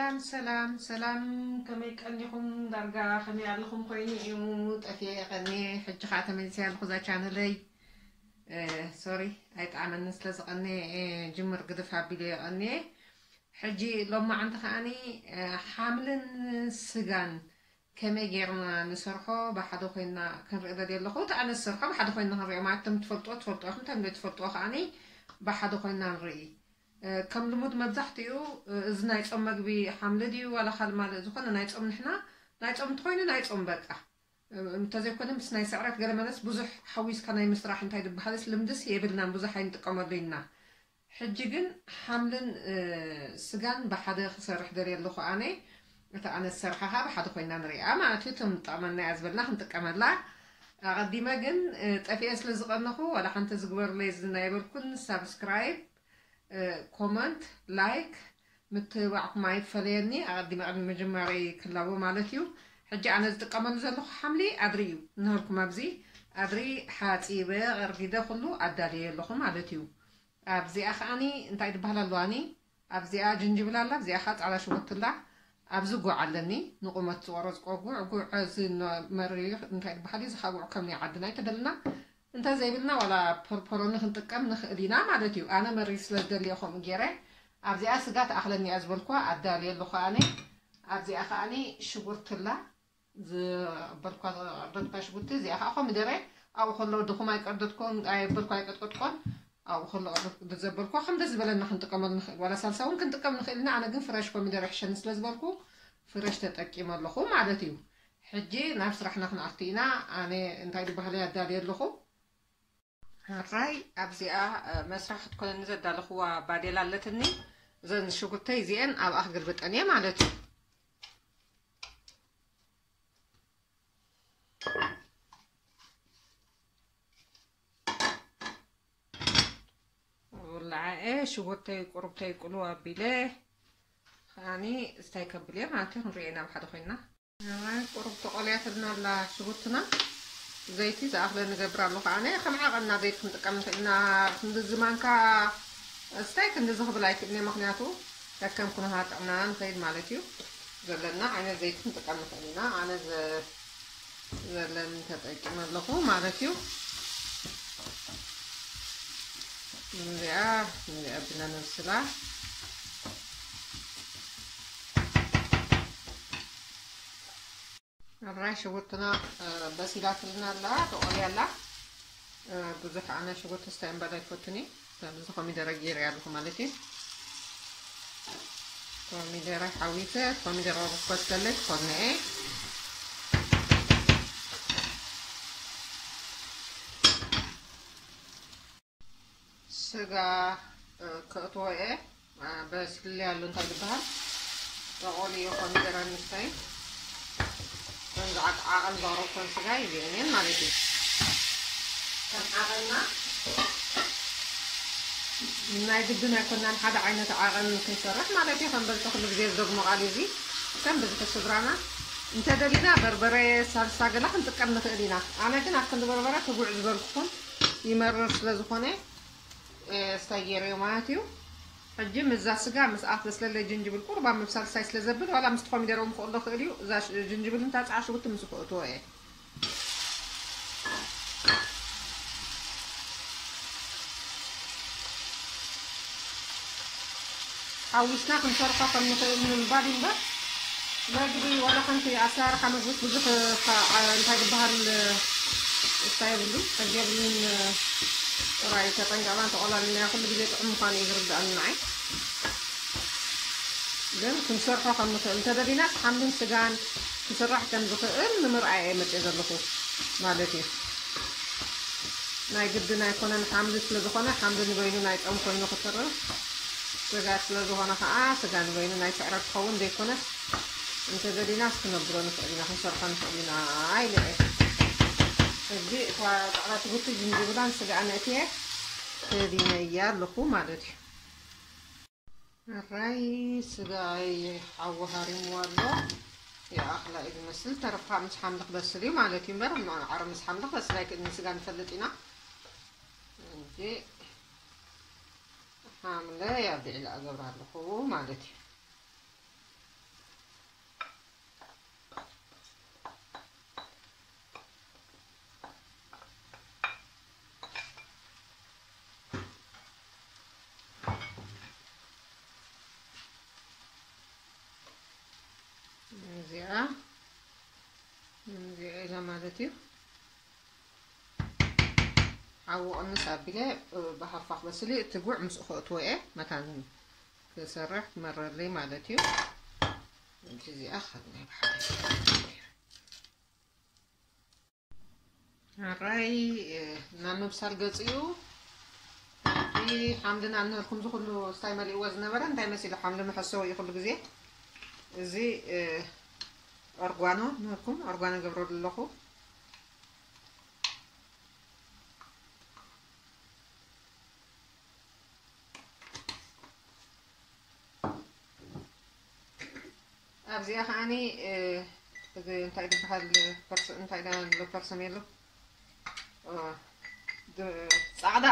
ሰላም ሰላም ሰላም፣ ከመይ ቀኒኹም? ዳርጋ ከመይ ኣለኹም? ኮይኑ እዩ ጠፊኤ ቀኒኤ፣ ሕጂ ኸዓ ተመሊሰ ኣለኹ እዛ ቻነለይ። ሶሪ፣ ኣይጠዓመንን ስለ ዝቐኒኤ ጅምር ግድፍ ኣቢለ የቐኒኤ። ሕጂ ሎማዓንቲ ከዓኒ ሓምልን ስጋን ከመይ ጌርና ንሰርሖ ብሓደ ኮይና ክንርኢ ደልየ ኣለኹ። እቲ ኣነ ዝሰርሖ ብሓደ ኮይና ክንሪኦ ማለት፣ እቶም ትፈልጥዎ ትፈልጥዎ ኢኹም፣ እቶም ዘይትፈልጥዎ ከዓኒ ብሓደ ኮይና ንርኢ። ከም ልሙድ መብዛሕትኡ እዚ ናይ ጾም መግቢ ሓምሊ ድዩ ዋላ ካልእ ማልእ ዝኾነ ናይ ጾም፣ ንሕና ናይ ጾም እንተኾይኑ ናይ ጾም በቃ። እንተዘይኮነ ምስ ናይ ስዕረት ገለ መለስ ብዙሕ ሓዊስካ ናይ ምስራሕ እንታይ ዝበሃልስ ልምድስ የብልናን፣ ብዙሕ ኣይንጥቀመሉ ኢና። ሕጂ ግን ሓምልን ስጋን ብሓደ ክሰርሕ ደልየ ኣለኹ ኣነ። እታ ኣነ ዝሰርሓ ከዓ ብሓደ ኮይና ንሪኣ ማለት እዩ። እቶም ጠቕመና እያ ዝበልና ክንጥቀመላ። ኣቐዲመ ግን ጠፊኤ ስለ ዝቐነኹ ዋላ ሓንቲ ዝግበርለይ ዝናይበልኩን ሳብስክራይብ፣ ኮመንት፣ ላይክ ምትብባዕኩም ኣይፈለየኒ። ኣቐዲመ ቅድሚ ምጅማረይ ክላቦ ማለት እዩ። ሕጂ ኣነ ዝጥቀመሉ ዘለኹ ሓምሊ ኣድሪ እዩ። እነህልኩም ኣብዚ ኣድሪ ሓፂበ፣ ቀርጊደ፣ ኩሉ ኣዳልየ ኣለኹ ማለት እዩ። ኣብዚኣ ከዓኒ እንታይ ዝበሃል ኣለዋኒ? ኣብዚኣ ጅንጅብል ኣላ፣ ኣብዚኣ ከዓ ፃዕዳ ሽጉርቲ ኣላ። ኣብዚ ጉዕ ኣለኒ፣ ንቁመት ዝቆረፅኮ ጉዕ፣ ጉዕ እዚ መሪ እንታይ ዝበሃል እዩ? እዚ ከዓ ጉዕ ከም ናይ ዓድና ኣይተደልና። እንተዘይብልና ዋላ ፐርፐሮኒ ክንጥቀም ንኽእል ኢና ማለት እዩ። ኣነ መሪር ስለ ዝደልዮ ከምኡ ገይረ ኣብዚኣ ስጋ ትኣኽለኒ እያ ዝበልኩዋ ኣዳልየ ኣለኹ ኣነ። ኣብዚኣ ከዓኒ ሽጉርትላ ዝበልኳ ዝቀርደድኳ ሽጉርቲ፣ እዚኣ ከዓ ኮሚደረ ኣብኡ ከሎ ድኹም ኣይቀርደድኮን፣ ኣየበልኩ ኣይቀጥቀጥኮን። ኣብኡ ከሎ ቀርደድ ዘበልኳ ከም ደስ ዝበለና ክንጥቀመሉ ንኽእል፣ ዋላ ሳልሳ እውን ክንጥቀም ንኽእል ኢና። ኣነ ግን ፍረሽ ኮሚደረ ይሕሸኒ ስለ ዝበልኩ ፍረሽ ተጠቂመ ኣለኹ ማለት እዩ። ሕጂ ናብ ስራሕና ክንኣቱ ኢና። ኣነ እንታይ ዝበሃለ ኣዳልየ ኣለኹ። ሕራይ ኣብዚኣ መስራሕ ክትኮነኒ ዘዳለኽዋ ባዴላ ኣለትኒ። እዘን ሽጉርተይ እዚአን ኣብኣ ክግልብጠን እየ ማለት እዩ። ውላዓኤ ሽጉርተይ ቁሩብተይ ቁሉ ኣቢለ ከዓኒ እስታይ ከብል እየ ማለት እዩ። ክንሪኦ ኢና ብሓደ ኮይና። እዋይ፣ ቁሩብ ተቆልያትልና ኣላ ሽጉርትና። ዘይቲ ዝኣኽለ ንገብር ኣለኹ ኣነ። ከም ዓቐንና ዘይቲ ክንጥቀም ንኽእል ኢና። ክንድዚ ማንካ እስታይ ክንድዚ ክብል ኣይክእልን እየ፣ ምኽንያቱ ከከም ኩነታት ጥዕናና ንኸይድ ማለት እዩ። ዘለና ዓይነት ዘይቲ ክንጥቀም ንኽእል ኢና። ኣነ ዘ-፣ ዘለኒ ተጠቂመ ኣለኹ ማለት እዩ። እዚኣ፣ እዚኣ ብና ነብስላ። ሕራይ ሽጉርትና በሲላትልና ኣላ፣ ተቆልያ ኣላ። ብዙሕ ኣነ ሽጉርቲ ስታይ እምበር ኣይፈቱኒ። ስለዚ ኮሚደረ ገይረ ኣለኹ ማለት እዩ። ኮሚደረ ሓዊሰ፣ ኮሚደረ ክበስለለይ ክኾንኤ። ስጋ ከእትዎ እየ። በስልለይ ኣሎ እንታይ ዝበሃል፣ ተቆልዮ ኮሚደረ ንስተይ። ከምዚ ዓቅ-፣ ዓቐን ዘቕረብኩን ስጋ ይብኤን ማለት እዩ። ከም ዓቐንና ናይ ግድን ኣይኮናን ሓደ ዓይነት ዓቐን ክንሰርሕ ማለት እዩ። ከም በልተ ኩሉ ግዜ ዝደግሞ ቃል እዚ ከም ብዝሒ ስድራና እንተደሊና በርበረ፣ ሳልሳ ገላ ክንጥቀም ንኽእል ኢና። ኣነ ግን ኣብ ክንዲ በርበረ ክጉዕ ዝበልኩኹን ይመርር ስለ ዝኾነ ስታይ ገይረዮ ማለት እዩ። ሕጂ ምስዛ ስጋ ምስ ኣፍ ዘስለለ ጅንጅብል ቁርባ ምብሳል ስታይ ስለ ዘብል ዋላ ምስቲ ኮሚደረ እውን ክቕሎ ክእል እዩ። እዛ ጅንጅብል እንታ ፃዓ ሽጉርቲ ምስ ክእትዎ እየ። ሓዊስና ክንሰርሖ ከም ንኽእል ንምባል እዩ እምበር መግቢ ዋላ ሓንቲ ኣሰራርሓ መግቢ ብዙሕ እንታይ ዝበሃል እንታይ የብሉን ሕጊ የብሉን። ጥራይ ተጠንቀቕና እንተቆላሊናዮ ኩሉ ግዜ ጥዑም ምዃኑ እዩ ዝርድኣኒ ንዓይ። ግን ክንሰርሖ ከም ንኽእል እንተደሊናስ ሓምልን ስጋን ክስራሕ ከም ዝኽእል ንምርኣይ እየ መፅየ ዘለኹ ማለት እዩ። ናይ ግድን ኣይኮነን ሓምሊ ስለ ዝኾነ ሓምሊ ንበይኑ ናይ ጾም ኮይኑ ክተርፍ፣ ስጋ ስለ ዝኾነ ከዓ ስጋ ንበይኑ ናይ ስዕረት ክኸውን ዘይኮነስ እንተደሊናስ ክነብሎ ንኽእል ኢና፣ ክንሰርሖ ንኽእል ኢና ኢለ እየ። ሕጂ እታ ፃዕዳ ሽጉርቲ ጅንጅብላን ስጋኣን ኣእትየ ከዲነያ ኣለኹ ማለት እዩ። ሕራይ ስጋይ ሓዊ ሃሪምዎ ኣሎ። ይኣኽላ እዩ ዝመስል። ተረፋ ምስ ሓምሊ ክበስል እዩ ማለት እዩ እምበር፣ ማዕረ ምስ ሓምሊ ክበስል ኣይክእልን። ስጋ ንፈልጥ ኢና እንጂ ሓምለ ኣብ ልዕሊ ኣገብር ኣለኹ ማለት እዩ። እዩ። ሓዊ ቅንስ ኣቢለ ብሃፋ ክበስል እዩ። እቲ ጉዕ ምስኡ ከእትዎ እየ። መታን ክሰርሕ ክመረለይ ማለት እዩ። እዚኣ ካብ ናይ ብሓደ ኣራይ ናብ ምብሳል ገጽ እዩ። እቲ ሓምሊ ንኣንህርኩም ዝኩሉ ስታይ መሊእዎ ዝነበረ እንታይ መሲሉ ሓምሊ መሐሰዊ እዩ ኩሉ ግዜ። እዚ ኦርጓኖ ንህርኩም ኦርጓኖ ገብረሉ ኣለኹ። ኣብዚኣ ከዓኒ እዚ እንታይ ዝበሃል ፐርስ እንታይ ዳ ኣሎ ፐርሰም የሎ ጻዕዳ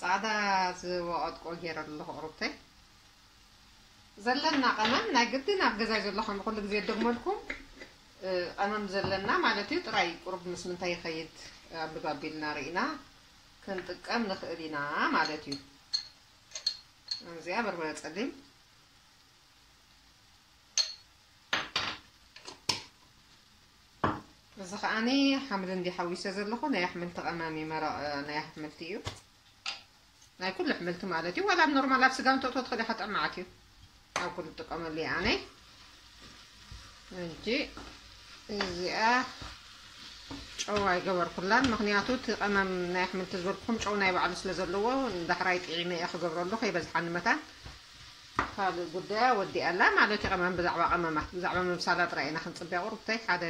ጻዕዳ ዝወቐጥቆ ገይረ ኣለኹ። ቁርብተይ ዘለና ቀመም ናይ ግድን ኣብ ገዛይ ዘሎ ከም ኩሉ ግዜ ደግመልኩም ቀመም ዘለና ማለት እዩ። ጥራይ ቁርብ ምስ ምንታይ ይኸይድ ኣብ ልባቢልና ርኢና ክንጥቀም ንኽእል ኢና ማለት እዩ። እዚኣ በርበረ ጸሊም እዚ ከዓኒ ሓምሊ እንዲ ሓዊሰ ዘለኹ ናይ ኣሕምልቲ ቀመም እዩ። መረቕ ናይ ኣሕምልቲ እዩ። ናይ ኩሉ ኣሕምልቲ ማለት እዩ። ዋላ ኣብ ኖርማል ኣብ ስጋ እንተእትዎ ትኽእል ኢኻ፣ ጥዕማዓት እዩ። ኣብ ኩሉ ትጥቀመሉ እየ ኣነ። እንጂ እዚኣ ጨው ኣይገበርኩላን፣ ምኽንያቱ እቲ ቀመም ናይ ኣሕምልቲ ዝበልኩኹም ጨው ናይ ባዕሉ ስለ ዘለዎ ንዳሕራይ ጥዒመ እየ ክገብረሉ ከይበዝሓኒ መታን። ካልእ ጉዳያ ወዲኣ ኣላ ማለት እዩ። ቀመም ብዛዕባ ቀመማት ብዛዕባ ምብሳላ ጥራይ ኢና ክንጽበያ። ቁሩብተይ ሓደ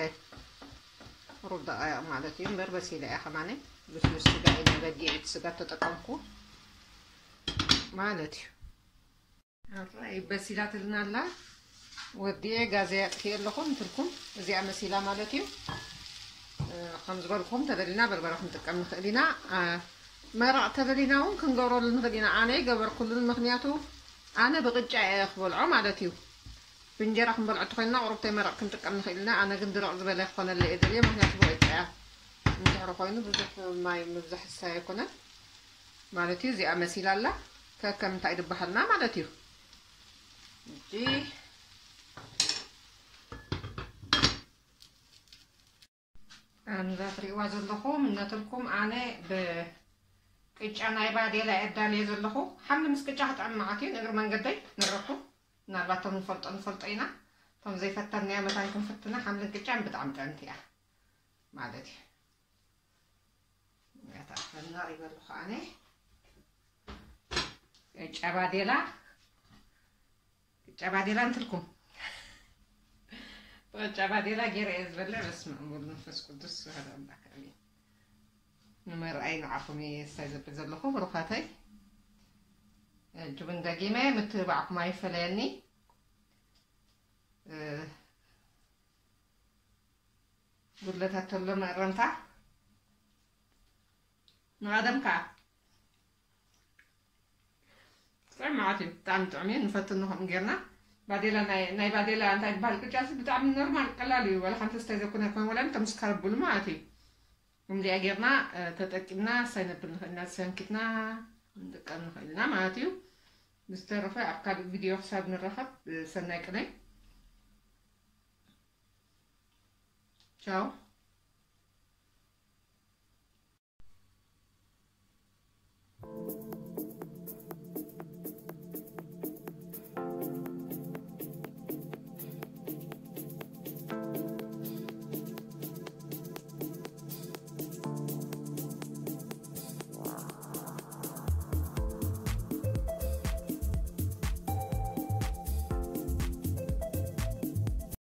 ሩብ ደቃይቕ ማለት እዩ እምበር በሲላ እያ ከማነ። ልስሉስ ስጋ ኢና በጊዕ እቲ ስጋ ተጠቀምኩ ማለት እዩ። ኣራይ በሲላትልና ኣላ። ወዲኤ ጋዘይ ኣጥፊኤ ኣለኹ እንትልኩም እዚኣ መሲላ ማለት እዩ። ከም ዝበልኩም ተደሊና በርበረ ክንጥቀም ንኽእል ኢና። መረቕ ተደሊና እውን ክንገብረሉ ንኽእል ኢና። ኣነ ይገበርኩሉን ምኽንያቱ ኣነ ብቅጫ እየ ክበልዖ ማለት እዩ። ብእንጀራ ክንበልዖ ተኮይንና ቁሩብተይ መረቕ ክንጥቀም ንኽእል ኢና። ኣነ ግን ድርቕ ዝበለ ክኾነለይ እየ ደልየ፣ ምኽንያቱ ብቅጫ እያ። እንድሕሪ ኮይኑ ብዙሕ ማይ ምብዛሕ ዝሳየ ኣይኮነን ማለት እዩ። እዚኣ መሲላ ኣላ ከከም እንታይ ድበሃልና ማለት እዩ። እጂ ኣንዛ ትሪእዋ ዘለኹም እነትልኩም ኣነ ብቅጫ ናይ ባዴላ የዳልየ ዘለኹ። ሓምሊ ምስ ቅጫ ክጥዕም መዓት እዩ። ንእግሪ መንገደይ ንረኩ ምናልባት እቶም ንፈልጦ ንፈልጦ ኢና። እቶም ዘይፈተንናዮ መታን ክንፍትና ሓምልን ቅጫን ብጣዕሚ ጥዕምቲ እያ ማለት እዩ። ያታፈና ይበልኹ ኣነ ቅጫ ባዴላ ቅጫ ባዴላ እንትልኩም ቅጫ ባዴላ ገይረ እየ ዝበልዕ። በስመ ኣብ ወወልድ መንፈስ ቅዱስ ኣሐዱ ኣምላክ ኣሜን። ንመርኣይ ንዓኹም እየ ስታይ ዘብል ዘለኹ ብሩኻተይ። ሕጂ እውን ደጊመ ምትብባዕኩም ኣይፈለየኒ። እ፣ ጉድለታት ተሎ መእረምታ ንቐደም ከኣ ጥዑም መዓት እዩ። ብጣዕሚ ጥዑም እዩ። ንፈትኖ ከምኡ ጌርና። ባዴላ ናይ፣ ናይ ባዴላ እንታይ ዝበሃል ቅጫ እዚ ብጣዕሚ ኖርማል ቀላል እዩ። ዋላ ሓንቲ ስታይ ዘኮነ ኮይኑ ዋላ እንተ ምስ ከረብሉ ማለት እዩ። ከምዚኣ ጌርና፣ እ፣ ተጠቂምና ስታይ ነብል ንኽእል ኢና። ሰንኪትና ንጥቀም ንኽእል ኢና ማለት እዩ። ብዝተረፈ ኣብ ካልእ ቪድዮ ክሳብ ንራኸብ፣ እ፣ ሰናይ ቅነ። ቻው።